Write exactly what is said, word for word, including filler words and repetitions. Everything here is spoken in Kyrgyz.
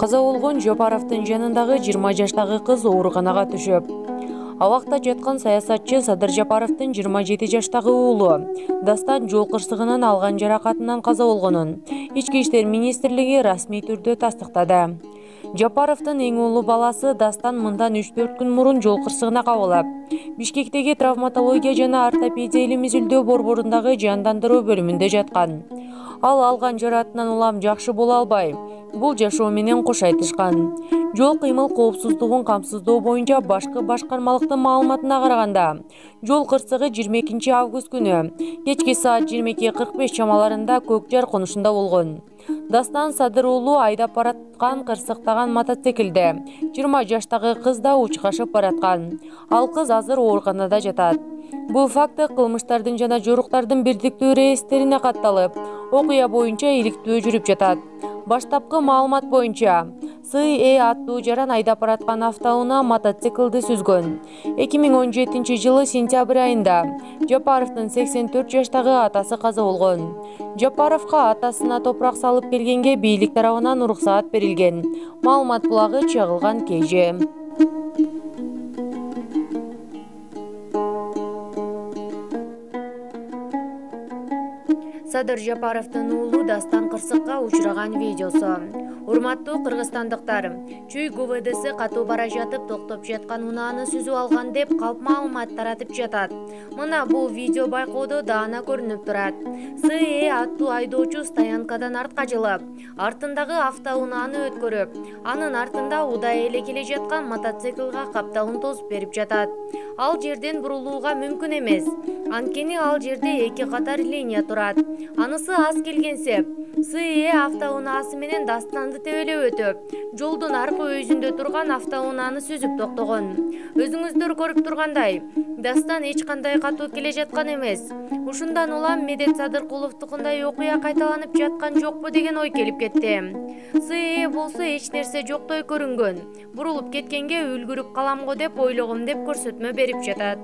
Каза болгон Жапаровдун жанындагы жыйырма жаштагы кыз ооруканага түшүп, абакта жаткан саясатчы Садыр Жапаровдун жыйырма жети жаштагы уулу Дастан жол кырсыгынан алган жаракатынан каза болгонун Ички иштер министрлиги расмий түрдө тастыктады. Жапаровдун эң улуу баласы Дастан мындан үч төрт күн мурун жол кырсыгына кабылып, Бишкектеги травматология жана ортопедия илим изилдөө борборундагы жандандыруу бөлүмүндө жаткан. Ал алган жараатынан улам жакшы боло албай, бул жашоо менен кош айтышкан. Жол кыймыл коопсуздугун камсыздоо боюнча башкы башкармалыктын маалыматына караганда, жол кырсыгы жыйырма экинчи август күнү кечки саат жыйырма эки кырк беш чамаларында Көк Жар конушунда болгон. Дастан Садыр уулу айдап бараткан кырсыктаган мотоциклде жыйырма жаштагы кыз да учкашып бараткан. Ал кыз азыр ооруканада жатат. Бул факты кылмыштардын жана жоруктардын бирдиктүү реестрине катталып, окуя боюнча иликтөө жүрүп жатат. Баштапкы маалымат боюнча, С Э аттуу жаран айдап бараткан автоунаа мотоциклди сүзгөн. эки миң он жетинчи жылы сентябрь айында Жапаровдун сексен төрт жаштагы атасы каза болгон. Жапаровго атасына топурак салып келгенге бийлик тарабынан уруксаат берилген. Маалымат булагы чагылган Кж. Садыр Жапаровдун уулу Дастан кырсыкка учураган видеосу. Урматтуу кыргызстандыктар, Чүй Г В Дси катуу бара жатып токтоп жаткан унааны сүзүп алган деп калп маалымат таратып жатат. Мына бул видео байкоодо даана көрүнүп турат. С Э аттуу айдоочу стоянкадан артка жылып, артындагы автоунааны өткөрүп, анын артында удай эле келе жаткан мотоциклга капталын тосуп берип жатат. Ал жерден бурулууга мүмкүн эмес. Анткени ал жерде эки катар линия турат. Анысы аз келгенсеп, С Э автоунаасы менен Дастанды тебелеп өтүп, жолдун аркы өйүзүндө турган автоунааны сүзүп токтогон. Өзүңүздөр көрүп тургандай, Дастан эч кандай катуу келе жаткан эмес. Ушундан улам Медет Садыркуловдукундай окуя кайталанып жаткан жокпу деген ой келип кетти. С Э болсо эч нерсе жоктой көрүнгөн. Бурулуп кеткенге үлгүрүп калам го деп ойлогом деп көрсөтмө берип жатат.